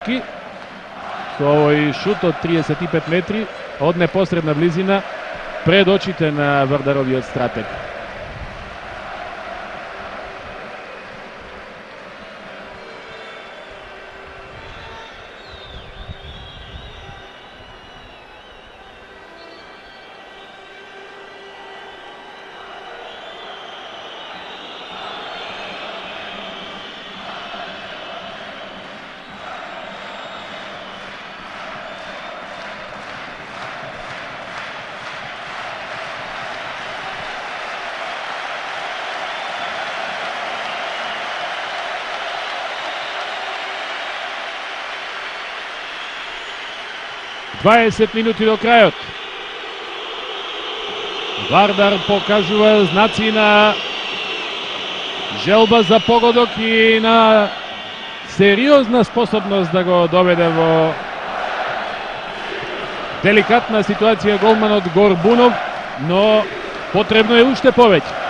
Со овој шут од 35 метри од непосредна близина пред очите на Вардаровиот стратег. Дваесет минути до крајот. Вардар покажува знаци на желба за погодок и на сериозна способност да го доведе во деликатна ситуација голманот Горбунов, но потребно е уште повеќе.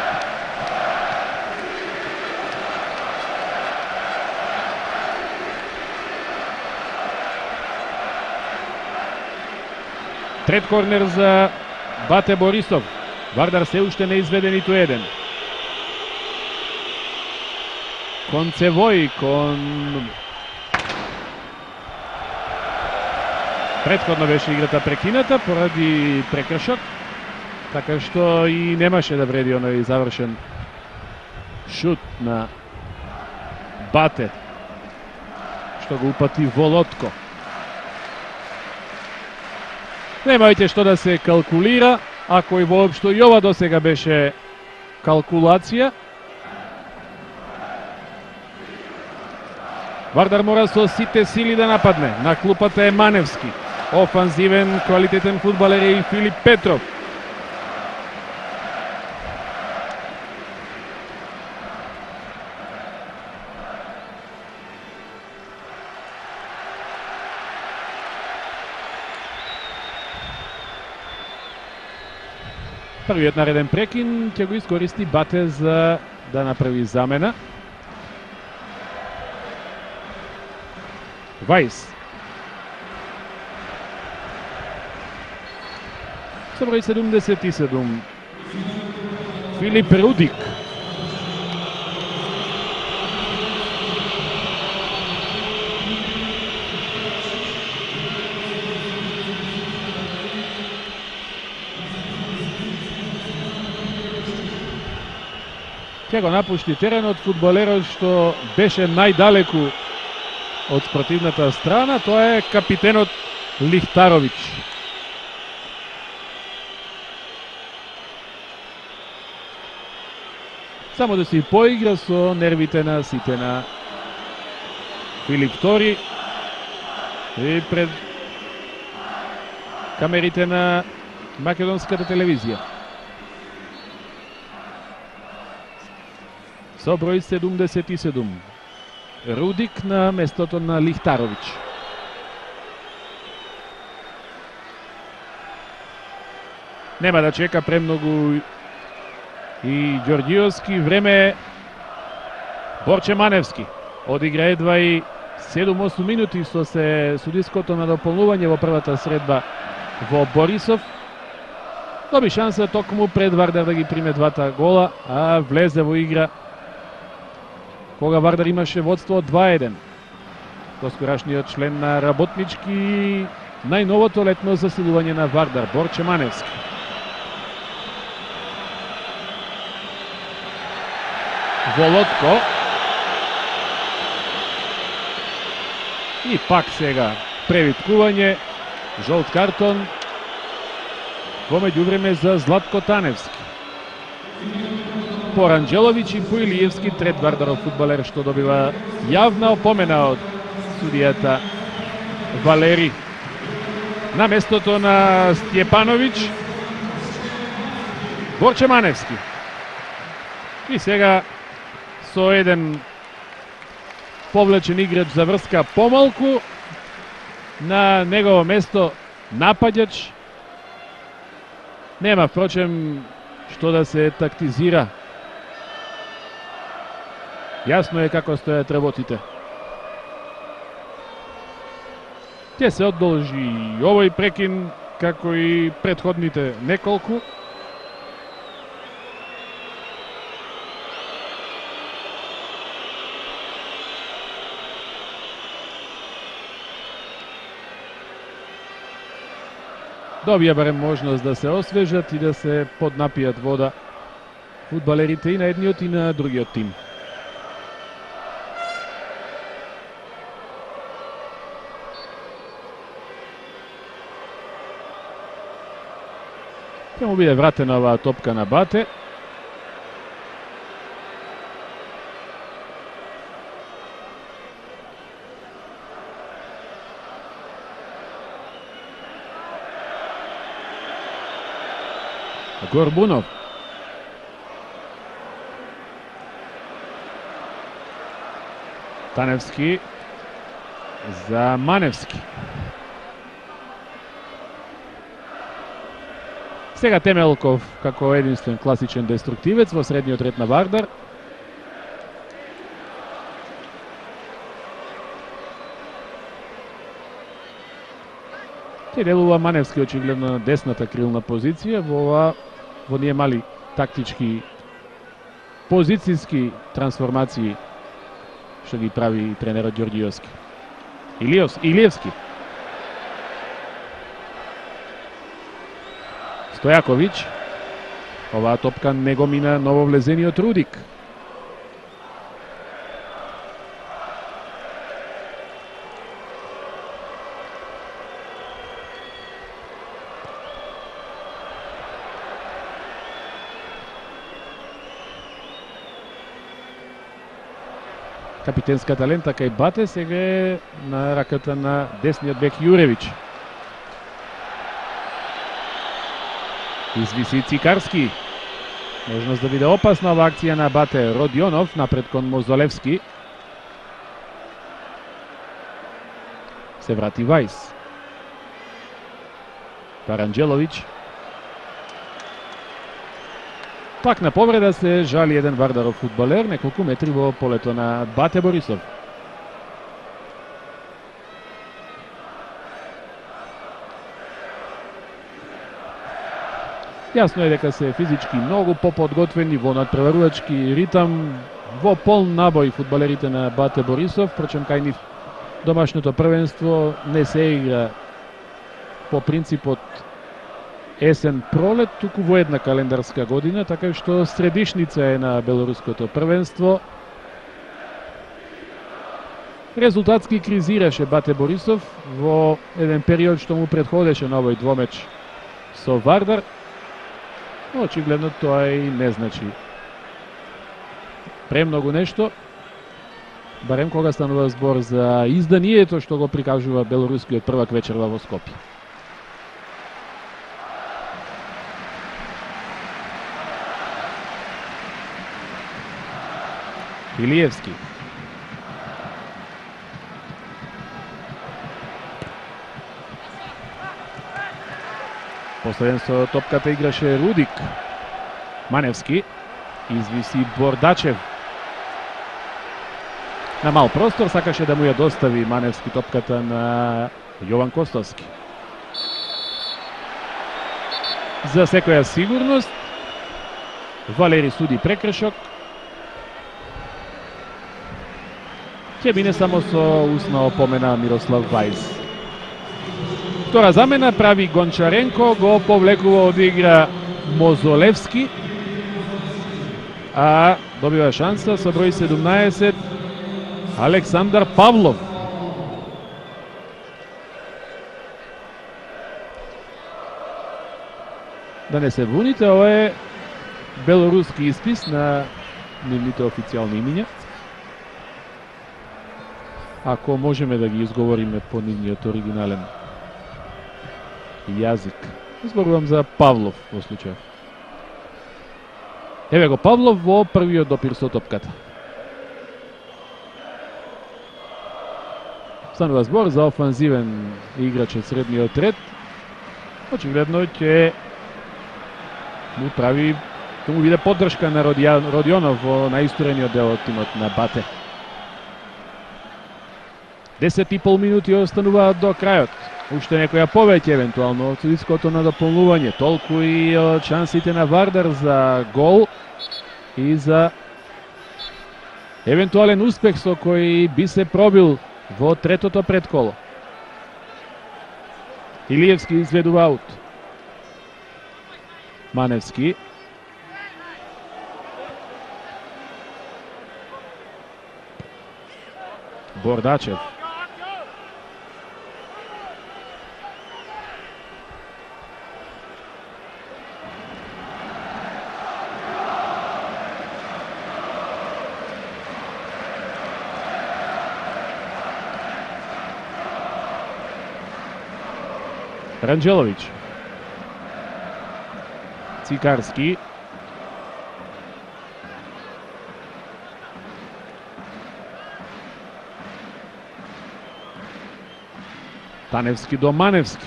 Трет корнер за Бате Борисов. Вардар се уште не изведе ниту еден. Кон Цевој, кон... Претходно беше играта прекината поради прекршок, така што и немаше да вреди оној завршен шут на Бате, што го упати во лотко. Немајте што да се калкулира, ако и воопшто и ова досега беше калкулација. Вардар мора со сите сили да нападне. На клупата е Маневски. Офанзивен, квалитетен фудбалер е и Филип Петров. Првиот нареден прекин ќе го искористи Бате за да направи замена. Вајс. Со број 77. Филип Рудик. Ќе го напушти теренот фудбалерот што беше најдалеку од спротивната страна, тоа е капитенот Лихтаровиќ. Само да се поигра со нервите на сите на Филип Тори и пред камерите на македонската телевизија. Со број 77. Рудик на местото на Лихтаровиќ. Нема да чека премногу и Ѓорѓиовски. Време е Борче Маневски. Одигра едва и 7-8 минути со се судиското надополнување во првата средба во Борисов. Доби шанса токму пред Вардар да ги приме двата гола, а влезе во игра кога Вардар имаше водство од 2-1. Доскорашниот член на работнички, најновото летно засилување на Вардар, Борче Маневски. Володко. И пак сега превиткување, жолт картон во меѓувреме за Златко Таневски. По Ранđelović и по Илиевски, трет Вардаров фудбалер што добива јавна опомена од судијата Валери. На местото на Стјепановиќ, Борче Маневски. И сега со еден повлечен играч за врска помалку, на негово место напаѓач. Нема, впрочем, што да се тактизира. Јасно е како стојат работите. Ќе се одолжи овој прекин, како и претходните неколку. Добија барем можност да се освежат и да се поднапијат вода фудбалерите и на едниот и на другиот тим. Ќе му биде вратена оваа топка на Бате. Горбунов. Таневски за Маневски. Сега Темелков како единствен класичен деструктивец во средниот ред на Вардар. Те делува Маневски очигледно на десната крилна позиција во ние мали тактички позицијски трансформации што ги прави тренерот Ѓорѓиевски. Илиевски. Стојаковиќ. Оваа топка не го мина нововлезениот Рудик. Капитенската лента кај Бате сега е на раката на десниот бек Јуревиќ. Извиси Цикарски. Можност да биде опасна ова акција на Бате. Родионов напред кон Мозолевски. Се врати Вајс. Паранџеловиќ. Пак на повреда се жали еден Вардаров фудбалер, неколку метри во полето на Бате Борисов. Јасно е дека се физички многу поподготвени во надпреварувачки ритам, во полн набој фудбалерите на Бате Борисов, впрочем кај нив домашното првенство не се игра по принципот есен-пролет, туку во една календарска година, така што средишница е на белоруското првенство. Резултатски кризираше Бате Борисов во еден период што му претходеше на овој двомеч со Вардар. Очигледно тоа и не значи премногу нешто, барем кога станува збор за изданието што го прикажува белорускиот првак вечерва во Скопје. Илиевски. Последен со топката играше Рудик. Маневски. Извиси Бордачев. На мал простор сакаше да му ја достави Маневски топката на Јован Костовски. За секоја сигурност Валери суди прекршок. Ќе мине само со усна опомена Мирослав Вајс. Втора замена прави Гончаренко, го повлекува од игра Мозолевски, а добива шанса со број 17 Александар Павлов. Да не се вуните, ова е белоруски испис на нивните официјални имиња. Ако можеме да ги изговориме по нивниот оригинален јазик. Зборувам за Павлов во случај. Еве го Павлов во првиот допир со топката. Станува збор за офанзивен играч од средниот ред. Очигледно ќе му прави, ќе му биде поддршка на Родионов во најистурениот дел од тимот на Бате. 10,5 минути остануваат до крајот. Уште некоја повеќе евентуално од судиското надополнување. Толку и од шансите на Вардар за гол и за евентуален успех со кој би се пробил во третото предколо. Илиевски изведува аут. Маневски. Бордачев. Ранџеловиќ. Цикарски. Таневски до Маневски.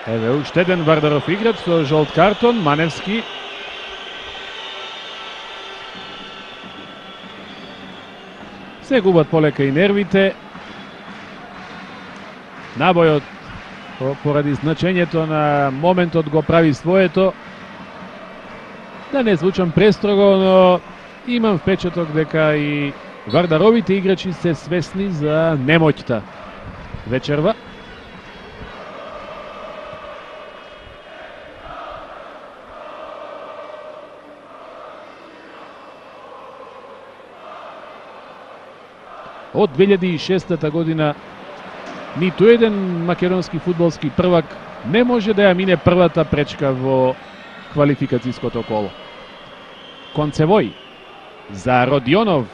Еве уште еден Вардаров играч со жолт картон. Маневски. Се губат полека и нервите. Набојот поради значењето на моментот го прави своето. Да не звучам престрого, но имам впечаток дека и Вардаровите играчи се свесни за немоќта вечерва. Од 2006 година ниту еден македонски фудбалски првак не може да ја мине првата пречка во квалификацијското коло. Концевој за Родионов.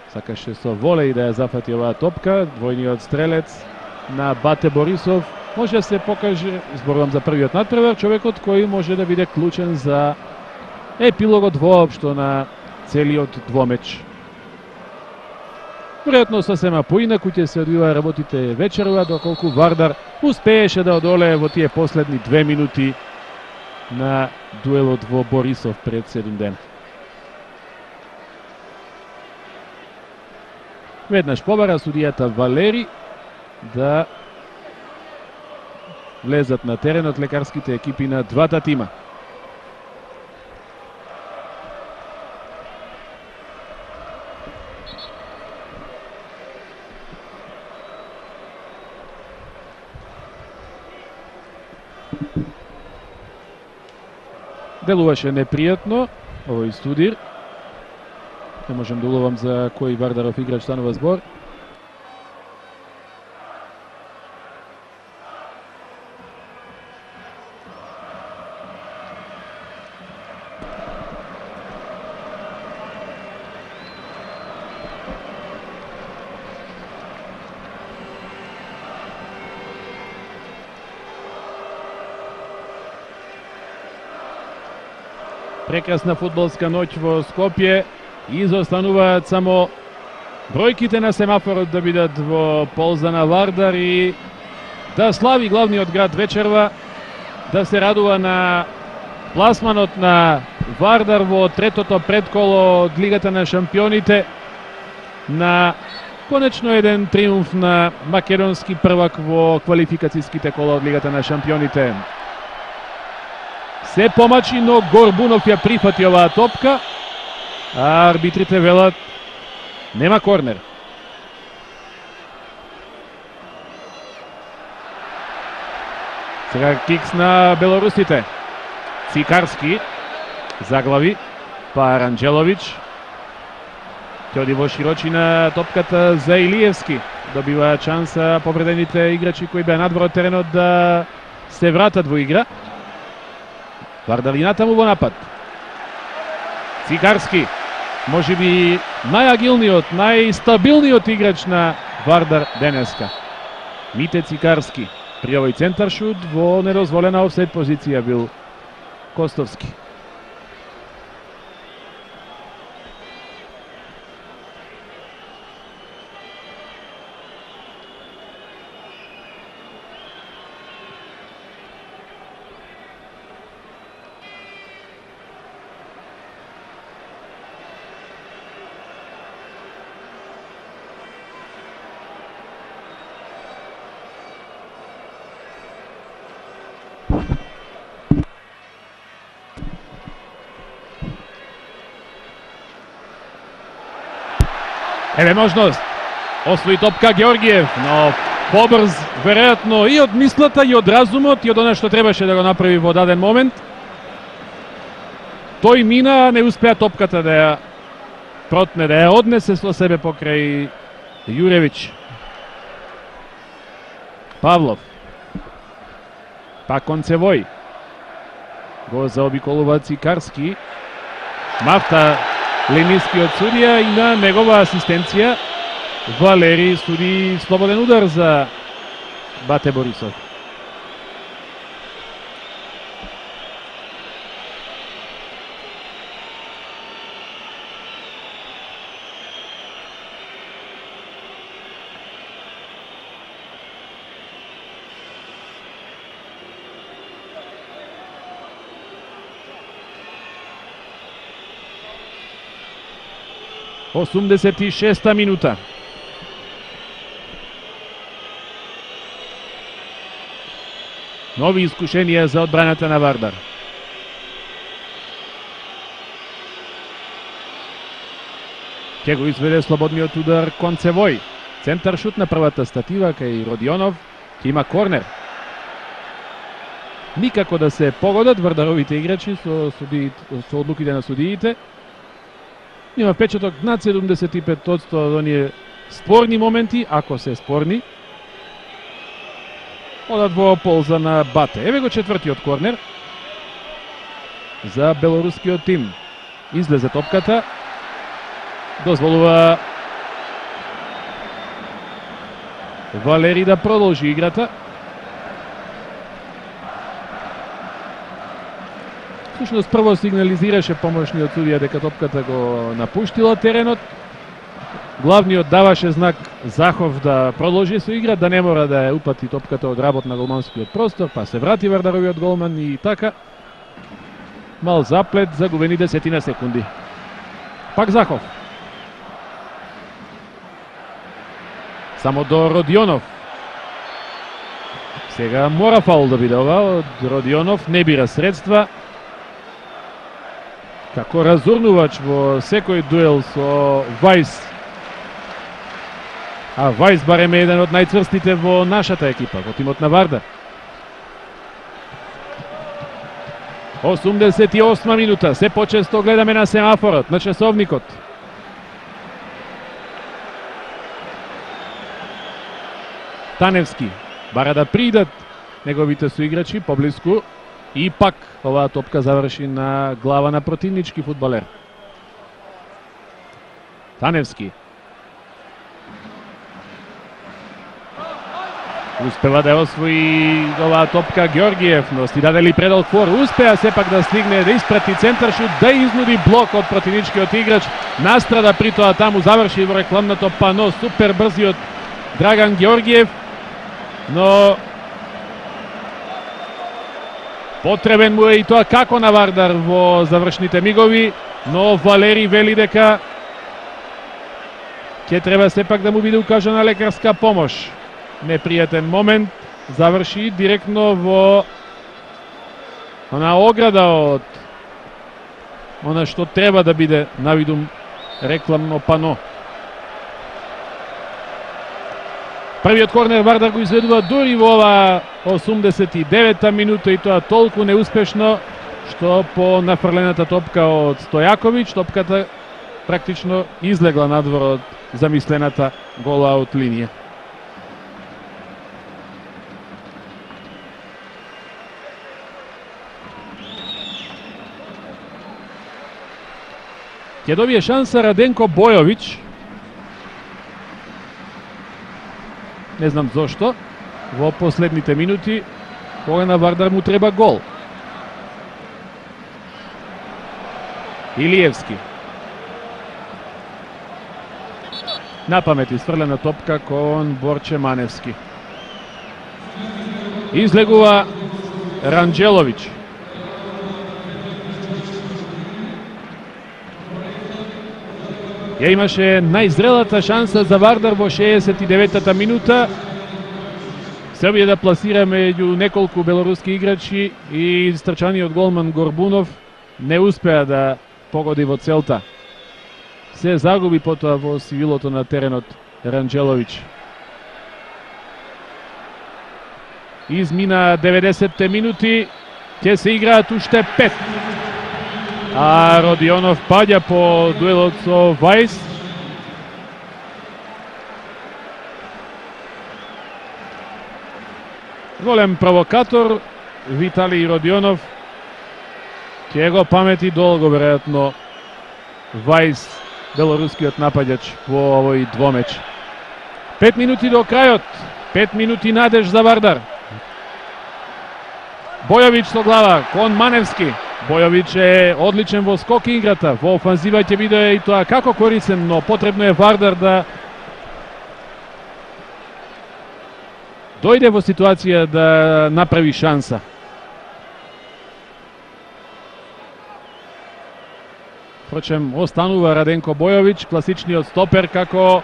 Сакаше со волеј да ја зафати оваа топка. Двојниот стрелец на Бате Борисов може да се покаже, зборувам за првиот надпревар, човекот кој може да биде клучен за епилогот воопшто на целиот двомеч. Веројатно сосема поинаку ќе се одвиваа работите вечерва, доколку Вардар успееше да одолее во тие последни 2 минути на дуелот во Борисов пред 7 дена. Веднаш побара судијата Валери да влезат на теренот лекарските екипи на двата тима. Делуваше непријатно овој студир. Не можем да уловам за кој Вардаров играч станува збор. Прекрасна фудбалска ноќ во Скопје. Изостануваат само бројките на семафорот да бидат во полза на Вардар и да слави главниот град вечерва, да се радува на пласманот на Вардар во третото предколо од Лигата на шампионите, на конечно еден триумф на македонски првак во квалификацијските кола од Лигата на шампионите. Се помачи, но Горбунов ја прифати оваа топка, а арбитрите велат нема корнер. Сега кикс на белорусите. Цикарски заглави, па Ранџеловиќ. Ќе оди во широчина топката за Илиевски. Добива шанса повредените играчи кои беа надвор од теренот да се вратат во игра. Вардар и натаму во напад. Цикарски, може би најагилниот, најстабилниот играч на Вардар денеска. Мите Цикарски, при овој центар шут во недозволена офсайд позиција бил Костовски. Еве можност. Освои топка Георгиев, но побрз, веројатно и од мислата, и од разумот, и од она што требаше да го направи во даден момент. Тој мина, не успеа топката да ја протне, да ја однесе со себе покрај Јуревиќ. Павлов. Пак Концевој. Го заобиколува Цикарски. Мафта, линискиот судија, и на негова асистенција Валери суди слободен удар за Бате Борисов. Осумдесет и шеста минута. Нови искушенија за одбраната на Вардар. Ке го изведе слободниот удар Концевој. Центар шут на првата статива кај Родионов. Ке има корнер. Никако да се погодат вардаровите играчи со одлуките на судиите. Има впечаток над 75% од оние спорни моменти, ако се спорни, одат во полза на Бате. Еве го четвртиот корнер за белорускиот тим. Излезе топката, дозволува Валери да продолжи играта. Всушност прво сигнализираше помошниот судија дека топката го напуштила теренот. Главниот даваше знак Захов да продолжи со игра, да не мора да ја упати топката од работ на голманскиот простор, па се врати Вардаровиот голман и така. Мал заплет, загубени 10 секунди. Пак Захов. Само до Родионов. Сега мора фаул да биде ова од Родионов, не бира средства. Како разурнувач во секој дуел со Вајс. А Вајс барем е еден од најцврстите во нашата екипа, во тимот на Вардар. 88 минута, се почесто гледаме на семафорот, на часовникот. Таневски бара да придат неговите соиграчи поблиску. И пак оваа топка заврши на глава на противнички фудбалер. Таневски. Успева да освои оваа топка Георгиев, но си дадели предал фор. Успеа сепак да стигне, да испрати центар шут, да изнуди блок од противничкиот играч. Настрада при тоа таму, заврши во рекламното пано, супер брзиот Драган Георгиев, но потребен му е и тоа како на Вардар во завршните мигови, но Валери вели дека ќе треба сепак да му биде укажана лекарска помош. Непријатен момент, заврши директно во она ограда од она што треба да биде навидум рекламно пано. Првиот корнер Вардар го изведува дури во ова 89-та минута и тоа толку неуспешно што по нафрлената топка од Стојаковиќ топката практично излегла надвор од замислената гола од линија. Ќе добие шанса Раденко Бојовиќ. Не знам зошто. Во последните минути, кога на Вардар му треба гол. Илиевски. Напамет изфрлена топка кон Борче Маневски. Излегува Ранџеловиќ. Ја имаше најзрелата шанса за Вардар во 69-та минута. Србија да пласира меѓу неколку белоруски играчи и стрчаниот голман Горбунов не успеа да погоди во целта. се загуби потоа во сивилото на теренот Ранџеловиќ. Измина 90 минути, ќе се играат уште 5. А Родионов паѓа по дуелот со Вајс. Голем провокатор Виталий Родионов. Ќе го памети долго веројатно Вајс, белорускиот напаѓач во овој двомеч. 5 минути до крајот. 5 минути надеж за Вардар. Бојовиќ со глава кон Маневски. Бојовиќ е одличен во скок играта. Во офанзива ќе биде и тоа како корисен, но потребно е Вардар да дојде во ситуација да направи шанса. Впрочем, останува Раденко Бојовиќ, класичниот стопер како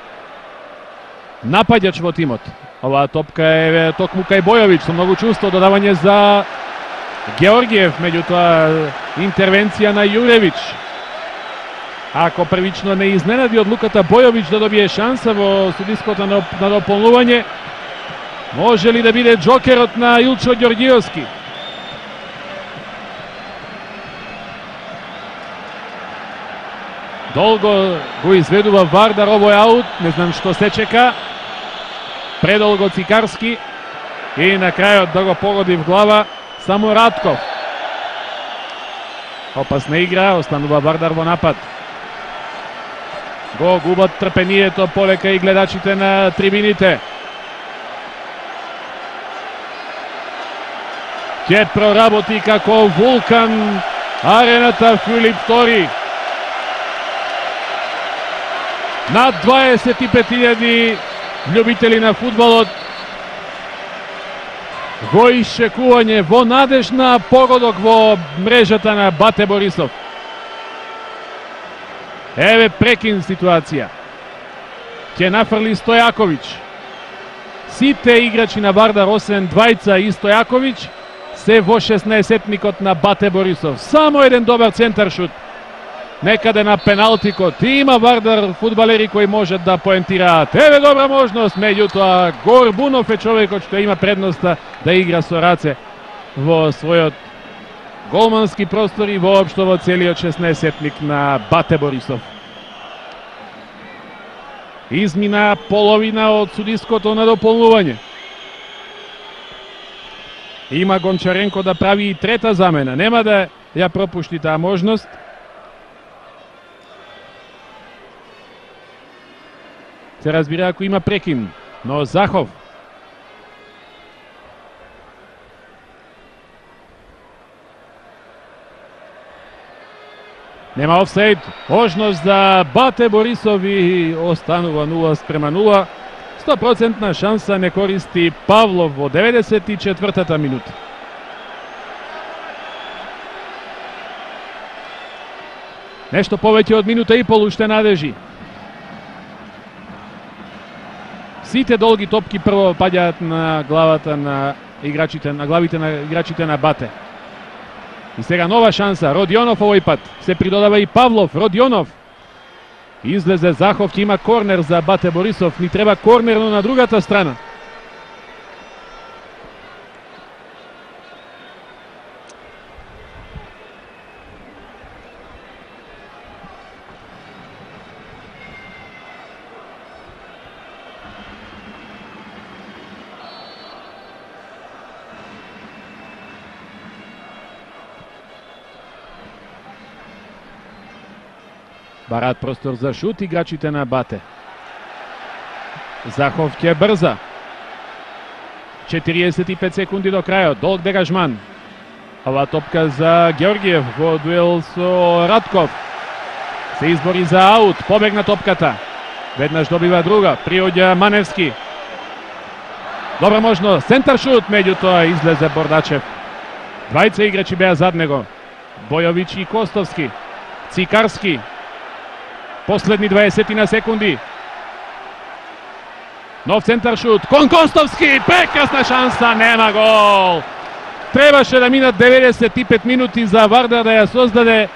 напаѓач во тимот. Оваа топка е токму кај Бојовиќ со многу чувство, додавање за Георгиев, меѓутоа интервенција на Јуревиќ. Ако првично не изненади одлуката Бојовиќ да добие шанса во судиското на дополнување, може ли да биде џокерот на Илчо Ѓорѓиевски? Долго го изведува Вардар, ово е аут, не знам што се чека. Предолго Цикарски и на крајот да го погоди в глава само Ратков. Опасна игра, останува Вардар во напад. Го губат трпението полека и гледачите на трибините. Ќе проработи како вулкан арената Филип II. Над 25.000 љубители на фудбалот во исчекување, во надеж на погодок во мрежата на Бате Борисов. Еве прекин ситуација. Ќе нафрли Стојаковиќ. Сите играчи на Вардар, освен двајца и Стојаковиќ, се во 16-тникот на Бате Борисов. Само еден добар центар шут. Некаде на пеналтикот. Има Вардар фудбалери кои можат да поентираат. Еве добра можност, меѓутоа Горбунов е човекот што има предноста да игра со раце во својот голмански простор и воопшто во целиот 16-тник на Бате Борисов. Измина половина од судиското на дополнување. Има Гончаренко да прави и трета замена. Нема да ја пропушти таа можност. Се разбира ако има прекин, но Захов нема офсайд. Можност за Бате Борисов и останува 0:0. 100% шанса не користи Павлов во 94-та минута. Нешто повеќе од минута и пол уште надежи. Сите долги топки прво паѓаат на главата на играчите, на главите на играчите на Бате. И сега нова шанса, Родионов овој пат. Се придодава и Павлов, Родионов. Излезе Захов, ќе има корнер за Бате Борисов. Ни треба корнер, но на другата страна. Бараат простор за шут играчите на Бате. Захов ќе брза. 45 секунди до крајот. Долг дегажман. Ова топка за Георгиев во дуел со Ратков. Се избори за аут. Побегна топката. Веднаш добива друга. Приоѓа Маневски. Добра можност. Центар шут, меѓутоа излезе Бордачев. Двајца играчи беа зад него. Бојовиќ и Костовски. Цикарски. Последни 20 на секунди. Нов центар шут. Кон Костовски. Прекрасна шанса. Нема гол. Требаше да минат 95 минути за Вардар да ја создаде